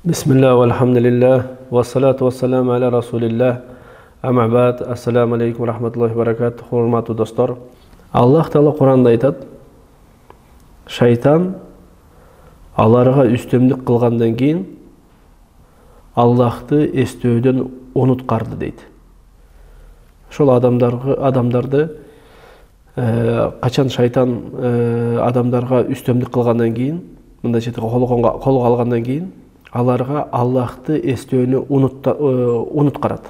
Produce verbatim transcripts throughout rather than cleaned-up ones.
Бисмилlah, вальхамдулиллах, вассалату вассаламу аля расулиллах, ама бад, ассаламу алейкум, рахматуллахи баракат, хурматтуу достор. Аллах Таала Куранда айтат, шайтан аларга үстөмдүк кылгандан кийин Аллахты эстөөдөн унуткарды дейт. Ошол адамдарды адамдарды качан шайтан адамдарга үстөмдүк кылгандан кийин, мындайча айтканда колго алгандан кийин аларга Аллахты эстөөнү унуткарат.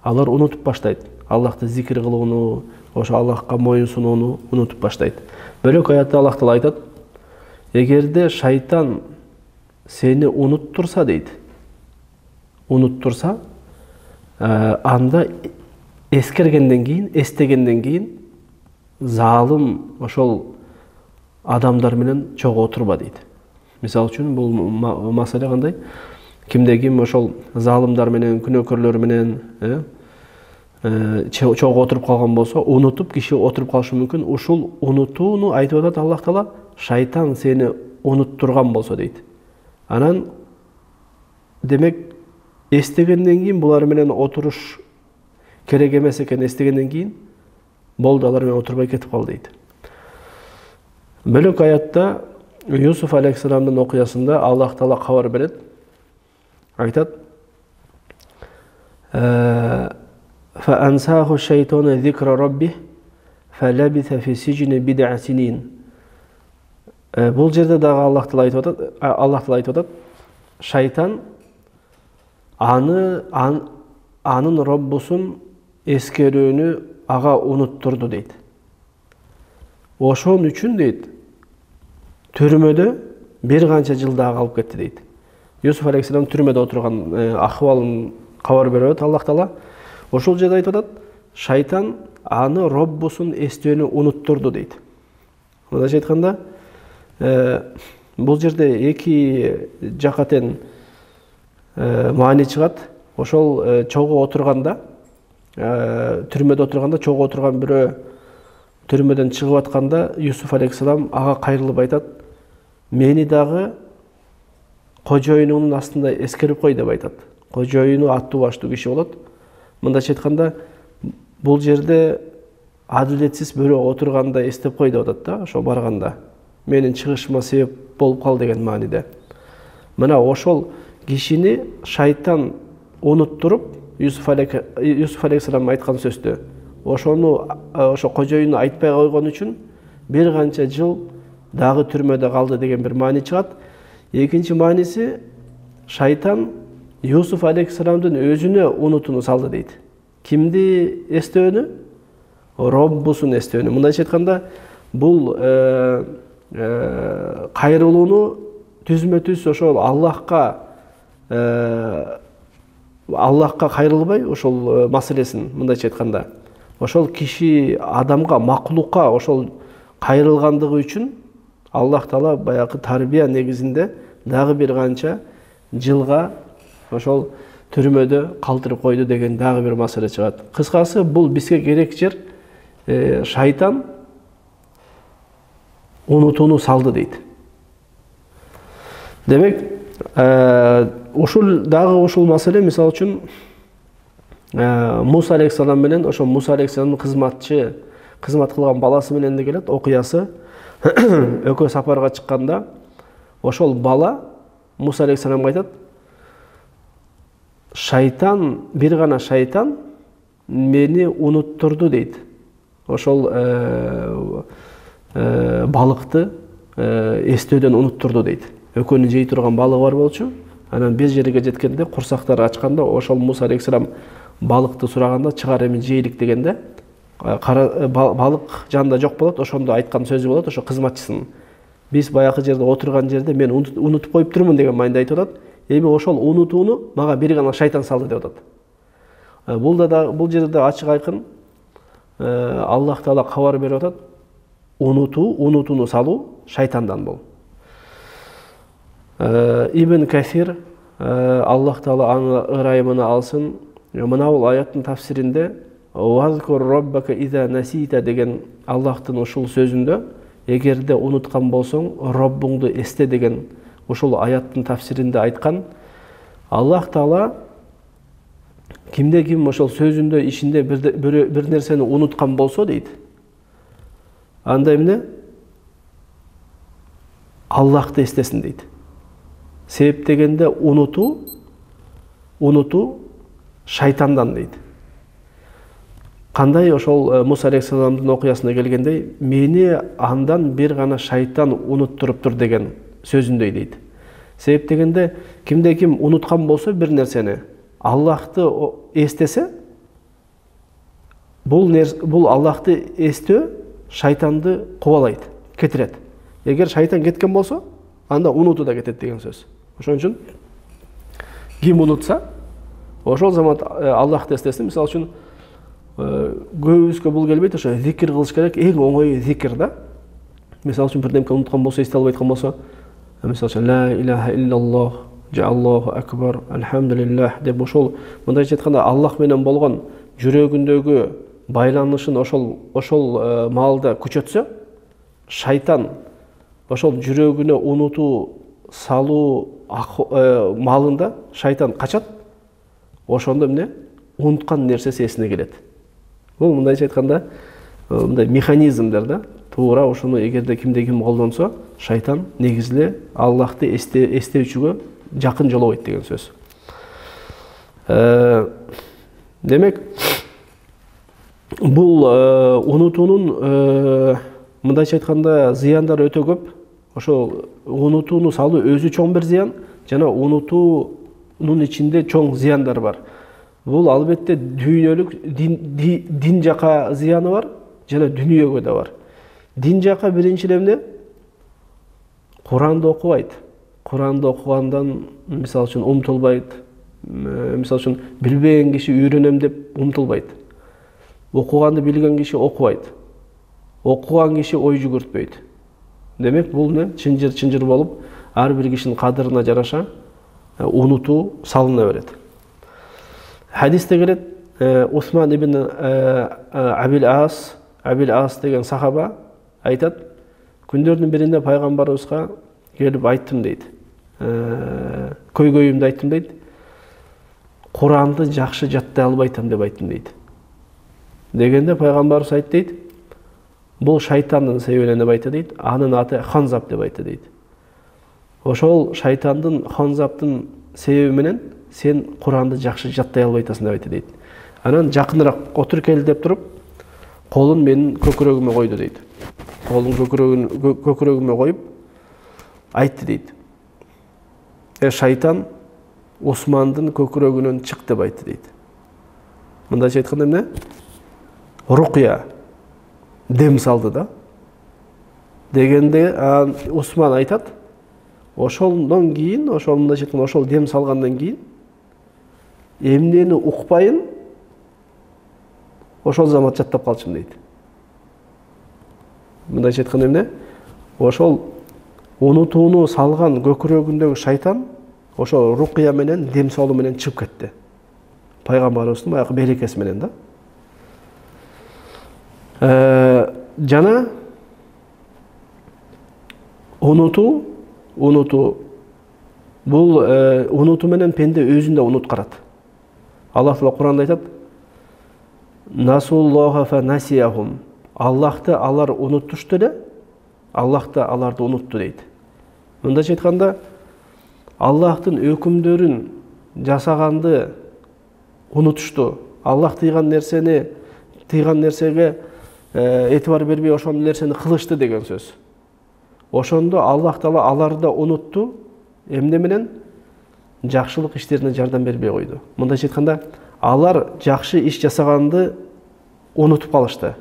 Алар унутуп баштайт. Аллахты зикир кылууну, ошо Аллахка моюн сунууну унутуп баштайт. Бөлөк аятта Аллах Таала айтат: эгерде шайтан сени унуттурса дейт. Унуттурса, анда эскергенден кийин, эстегенден кийин залым ошол адамдар менен чогуу отурба дейт. Мисалы үчүн бул маселе кандай? Кимде ким ошол залымдар менен, күнөөкөрлөр менен чогуу отуруп калган болсо, унутуп киши отуруп калышы мүмкүн. Ушул унутууну айтып атат Аллах Таала, шайтан сени унуттурган болсо дейт. Анан демек эстегенден кийин булар менен отуруш керек эмес экен, эстегенден кийин болду, алар менен отурбай кетип кал дейт. Бөлөк аятта Юсуф алейхиссаламдын окуясында Аллах Таала кабар берет. Айтат: "Фа ансаху шайтану зикра раббих, фалабиса фи сижни бид'a синин." Бул жерде дагы Аллах Таала айтып атат, Аллах Таала айтып атат, шайтан аны анын Роббусун эскерүүнү ага унуттурду дейт. Ошон үчүн дейт, түрмөдө бир канча жыл дагы калып кетти дейт. Юсуф алейхиссалам түрмөдө отурган акыбалын кабар берет Аллах Таала. Ошол жерде айтып атат, шайтан аны Роббусун эстөөнү унуттурду дейт. Мындайча айтканда, бул жерде эки жакатен маани чыгат. Ошол чогуу отурганда, түрмөдө отурганда, чогуу отурган бирөө түрмөдөн чыгып атканда, Юсуф алейхиссалам ага кайрылып айтат: "Мени дагы кожоюнуңдун астында эскерип кой" деп айтат. Кожоюну аттуу баштуу киши болот. Мындайча айтканда, бул жерде адилетсиз бирөө отурганда эстеп кой деп атат да, ошо барганда. Менин чыгышыма себеп болуп кал деген мааниде. Мына ошол кишини шайтан унуттуруп, Юсуф алейхиссалам айткан сөздү, ошону ошо кожоюну айтпай койгон үчүн бир канча жыл дагы түрмөдө калды деген бир маани чыгат. Экинчи мааниси, шайтан Юсуф алейхиссаламдын өзүнө унутууну салды дейт. Кимди эстөөнү? Роббусун эстөөнү. Мындайча айтканда, бул кайрылууну түзмө-түз ошол Аллахка Аллахка кайрылбай, ошол маселесин мындайча айтканда, ошол киши адамга, макулукка ошол кайрылгандыгы үчүн Аллах Таала баягы тарбия негизинде дагы бир канча жылга ошол түрмөдө калтырып койду деген дагы бир маселе чыгат. Кыскасы, бул бизге керек жер, шайтан унутууну салды дейт. Демек, ушул дагы ушул маселе, мисалы үчүн, Муса алейхиссалам менен ошо Муса алейхиссаламдын кызматчы, кызмат кылган баласы менен де келет окуясы. Экөө сапарга чыкканда, ошол бала Муса алейхиссаламга айтат: "Шайтан, бир гана шайтан мени унуттурду" дейт. Ошол балыкты эстөөдөн унуттурду дейт. Экөөнүн жей турган балыгы бар болчу. Анан бир жерге жеткенде, курсактары ачканда, ошол Муса алейхиссалам балыкты сураганда, "Чыгар эми жейлик" дегенде, балык жанында жок болот. Ошондо айткан сөзү болот, ошо кызматчысынын: "Биз баягы жерде отурган жерде мен унутуп коюп турмун" деген майында айтып атат. Эми ошол унутууну мага бир гана шайтан салды деп атат. Бул да бул жерде ачык айкын Аллах Таала кабар берип атат: унутуу, унутууну салуу шайтандан бул. Ибн Касир, Аллах Таала аны ырайымына алсын, мына бул аяттын тафсиринде "Вазкур роббака иза насита" деген Аллахтын ушул сөзүндө, эгерде унуткан болсоң, Роббуңду эсте деген ошол аяттын тафсиринде айткан, Аллах Таала кимде ким ошол сөзүндө ишинде бир, бир нерсени унуткан болсо дейт, анда эмне? Аллахты эстесин дейт. Себеп дегенде унутуу, унутуу шайтандан дейт. Кандай ошол Муса алейхиссаламдын окуясына келгендей, мени андан бир гана шайтан унуттуруптур деген сөзүндөй дейт. Себеп дегенде кимде ким унуткан болсо бир нерсени, Аллахты эстесе, бул бул Аллахты эстөө шайтанды кубалайт, кетирет. Эгер шайтан кеткен болсо, анда унутуу да кетет деген сөз. Ошон үчүн ким унутса, ошол замат Аллахты эстесин. Мисалы үчүн көбүбүзгө бул келбейт, ошо зикир кылыш керек, эң оңой зикир да. Мисалы үчүн бирдемке унуткан болсо, эсте албай аткан болсо, мисалы үчүн ла илаха иллаллах, Аллаху акбар, алхамдулиллах деп ошол мындайча айтканда Аллах менен болгон жүрөгүндөгү байланышын ошол ошол маалда күчөтсө, шайтан ошол жүрөгүнө унутуу салуу маалында шайтан качат. Ошондо эмне? Унуткан нерсеси эсине келет. Бул мындайча айтканда мындай механизмдер да. Туура ошону эгерде кимде ким колдонсо, шайтан негизиле Аллахты эстөөчүгө жакын жолобойт деген сөз. Демек, бул унутуунун мындайча айтканда зыяндары өтө көп. Ошол унутууну салуу өзү чоң бир зыян, жана унутуунун ичинде чоң зыяндар бар. Бул албетте дүйнөлүк дин, дин жака зыяны бар, жана дүнүйөгө да бар. Дин жака биринчиден эмне? Куранды окубайт. Куранды окугандан мисалы үчүн умтулбайт. Мисалы үчүн билбеген киши үйрөнөм деп умтулбайт. Окуганды билген киши окубайт. Окуган киши ой жүгүртпөйт. Демек, бул не? Чынжыр-чынжыр болуп, ар бир кишинин кадырына жараша унутуу салына берет. Хадисте келет, Усман ибн Абил Ас, Абил Ас деген сахаба айтат, күндөрдүн биринде пайгамбарыбызга келип айттым дейт. Көйгөйүмдү айттым дейт. Куранды жакшы жаттай албайтам деп айттым дейт. Дегенде пайгамбарыбыз айтты дейт, бул шайтандын себебинен деп айтты дейт, анын аты Ханзап деп айтты дейт. Ошол шайтандын, Ханзаптын себеби менен сен Куранды жакшы жаттай албайтасың деп айтты дейт. Анан жакыныраак отур кел деп туруп, колун менин көкүрөгүмө койду дейт. Колун көкүрөгүмө коюп айтты дейт. Э шайтан Усмандын көкүрөгүнөн чык деп айтты дейт. Мындайча айтканда эмне? Рукия дем салды да. Дегенде Усман айтат, ошондон кийин, ошол мындайча айтканда ошол дем салгандан кийин эмнени укпайын, ошол замат жаттап калчумун дейт. Мындайча айтканда эмне? Ошол унутууну салган көкүрөгүндөгү шайтан ошол рукия менен, дем салуу менен чыгып кетти. Пайгамбарыбыздын баягы берекеси менен да. Жана унутуу, унутуу бул унутуу менен пенде өзүн да унуткарат. Аллах Таала Куранда айтат: Насуллаха фа насияхум. Аллахты алар унуттушту эле, Аллах да аларды унутту дейт. Мындайча айтканда, Аллахтын өкүмдөрүн жасаганды унутушту. Аллах тыйган нерсени, тыйган нерсеге этибар бербей ошол нерсени кылышты деген сөз. Ошондо Аллах Таала аларды унутту, эмне менен? Жакшылык иштерине жардам бербей койду. Мындайча айтканда, алар жакшы иш жасаганды унутуп калышты.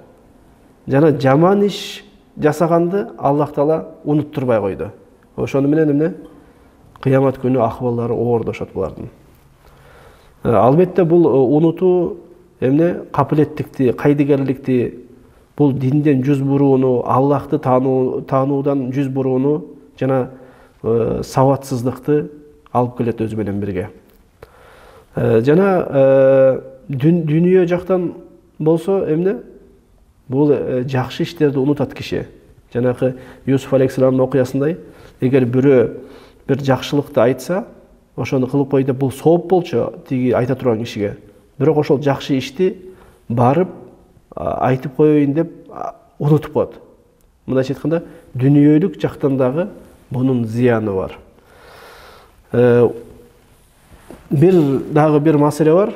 Жана жаман иш жасаганды Аллах Таала унуттурбай койду. Ошону менен эмне? Кыямат күнү акыбалдары оордошот булардын. Албетте бул унутуу эмне? Капилеттикти, кайдыгерликти, бул динден жүз бурууну, Аллахты таануудан жүз бурууну жана сабатсыздыкты алып келет өзү менен бирге. Жана дүнүйө жактан болсо эмне? Бул жакшы иштерди унутат киши. Жанагы Юсуф алейхиссаламдын окуясындай, эгер бирөө бир жакшылыкты айтса, ошону кылып кой деп, бул сооп болчу тиги айта турган кишиге. Бирок ошол жакшы ишти барып айтып коеюн деп унутуп коет. Мындайча айтканда, дүнүйөлүк жактан дагы бунун зыяны бар. Бир дагы бир маселе бар.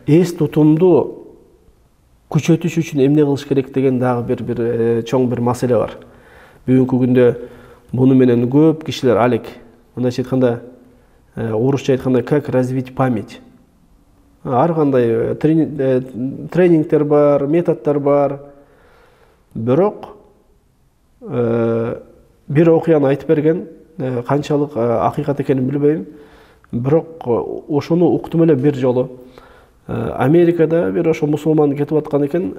Эс тутумду күчөтүш үчүн эмне кылыш керек деген дагы бир бир чоң бир маселе бар. Бүгүнкү күндө буну менен көп кишилер алек, мындайча айтканда, орусча айтканда, как развить память. Ар кандай тренингтер бар, методдор бар. Бирок бир окуяны айтып берген, канчалык акыйкат экенин билбейм. Бирок ошону уктум эле бир жолу. Америкада бир ошо мусулман кетип аткан экен,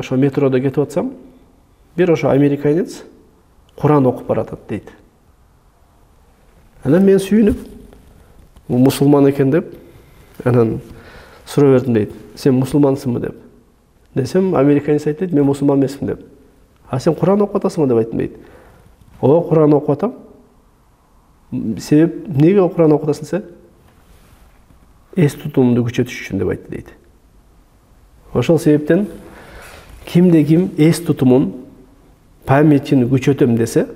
ошо метрода кетип атсам, бир ошо американец Куран окуп баратат дейт. Анан мен сүйүнүп, бул мусулман экен деп, анан суроо бердим дейт. Сен мусулмансыңбы деп. Десем, американец айтты, мен мусулман эмесмин деп. А сен Куран окуп атасыңбы деп айттым дейт. Ооба, Куран окуп атам. Себеп, эмнеге Куран окуп атасың сен? Эс тутумду күчөтүш үчүн деп айтты дейт. Ошол себептен кимде ким эс тутумун, памятин күчөтөм десе,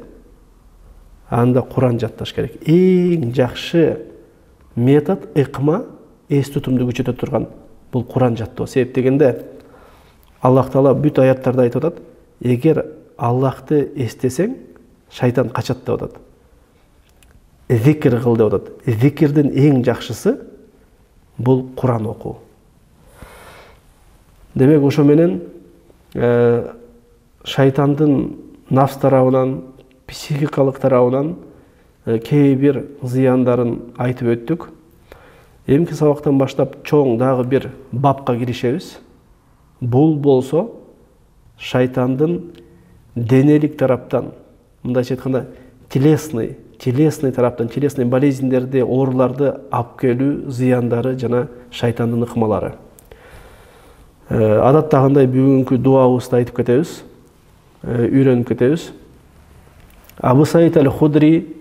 анда Куран жатташ керек. Эң жакшы метод, ыкма эс тутумду күчөтө турган бул Куран жаттоо. Себеп дегенде Аллах Таала бүт аяттарда айтып атат, эгер Аллахты эстесең, шайтан качат деп атат. Зикир кыл деп атат. Зикирдин эң жакшысы бул Куран окуу. Демек, ошо менен шайтандын нафс тарабынан, психикалык тарабынан кээ бир зыяндарын айтып өттүк. Эмки сабактан баштап чоң дагы бир бапка киришебиз. Бул болсо шайтандын денелик тараптан, мындайча айтканда, телесный, телесный тараптан, телесный болезньдерди, ооруларды алып келүү зыяндары жана шайтандын ыкмалары. Адаттагындай бүгүнкү дуабызды айтып кетебиз, үйрөнүп кетебиз. Абу Саид аль-Худри,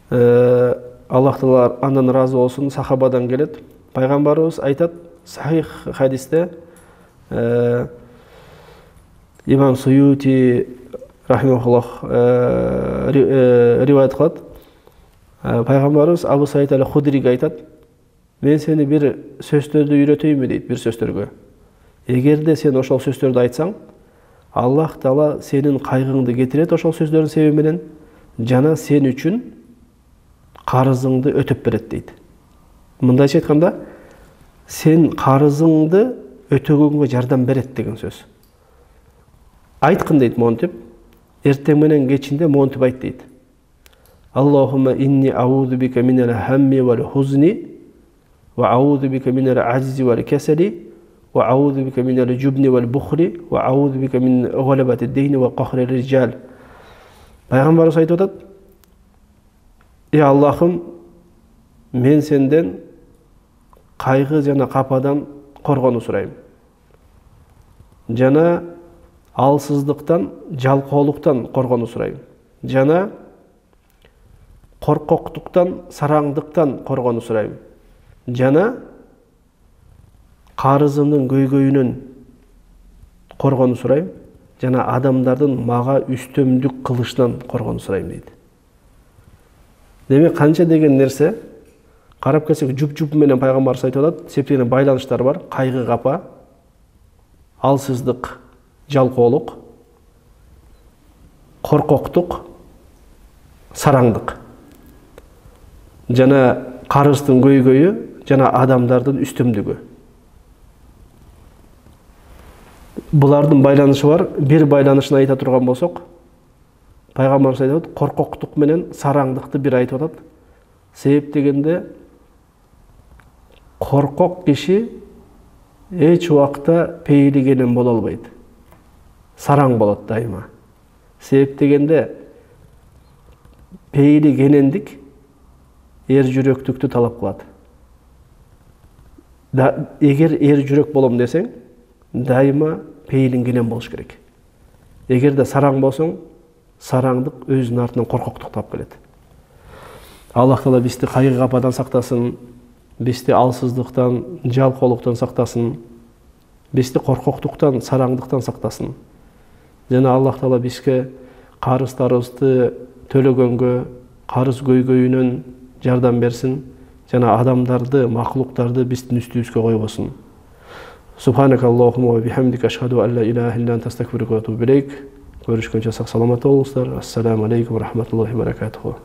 Аллах Таала андан ыраазы болсун, сахабадан келет. Пайгамбарыбыз айтат, сахих хадисте, имам Суюти рахимахуллах риваят кылат. Пайгамбарыбыз Абу Саид аль-Худриге айтат, мен сени бир сөздөрдү үйрөтөйүнбү дейт, бир сөздөргө. Эгерде сен ошол сөздөрдү айтсаң, Аллах Таала сенин кайгыңды кетирет ошол сөздөрдүн себеби менен, жана сен үчүн карызыңды өтөп берет дейт. Мындайча айтканда, сен карызыңды өтөгөнгө жардам берет деген сөз. Айткын дейт монтип, эртең менен кечинде монтип айт дейт. Аллахумма инни аузу бика минал хамми вал хузни ва аузу бика минал ажзи вал касали ва аузу бика минал жубни вал бухли ва аузу бика мин галабати дейни ва кахри риджал. Пайгамбарыбыз айтып атат, «Эй Аллахым, мен сенден кайгы жана кападан коргонуу сурайм. Жана алсыздыктан, жалкоолуктан коргонуу сурайм. Жана коркоктуктан, сараңдыктан коргонуу сурайм. Жана карызымдын көйгөйүнөн коргонуу сурайм. Жана адамдардын мага үстөмдүк кылышынан коргонуу сурайм» дейт. Демек, канча деген нерсе, карап келсек, жуп-жуп менен пайгамбарыбыз айтып атат, септеген байланыштар бар. Кайгы, капа, алсыздык, жалкоолук, коркоктук, сараңдык. Жана карыздын көйгөйү, жана адамдардын үстөмдүгү. Булардын байланышы бар. Бир байланышын айта турган болсок, пайгамбарыбыз айтып атат, коркоктук менен сараңдыкты бир айтып атат. Себеп дегенде, коркок киши эч убакта пейилигенен боло албайт. Сараң болот дайыма. Себеп дегенде, пейилигенендик эр жүрөктүктү талап кылат. Эгер эр жүрөк болом десең, дайыма пейилиңгенен болуш керек. Эгерде сараң болсоң, сараңдык өзүнүн артынан коркоктукту алып келет. Аллах Таала бизди кайгы кападан сактасын, бизди алсыздыктан, жалкоолуктан сактасын, бизди коркоктуктан, сараңдыктан сактасын. Жана Аллах Таала бизге карыздарыбызды төлөгөнгө, карыз көйгөйүнөн жардам берсин, жана адамдарды, махлуктарды биздин үстүбүзгө койбосун. Субханакаллахумма ва бихамдика ашхаду ан ла илаха илля анта астагфирука ва атубу илейк. Көрүшкөнчө сак саламат болуңуздар. Ассаламу алейкум ва рахматуллахи ва баракатуху.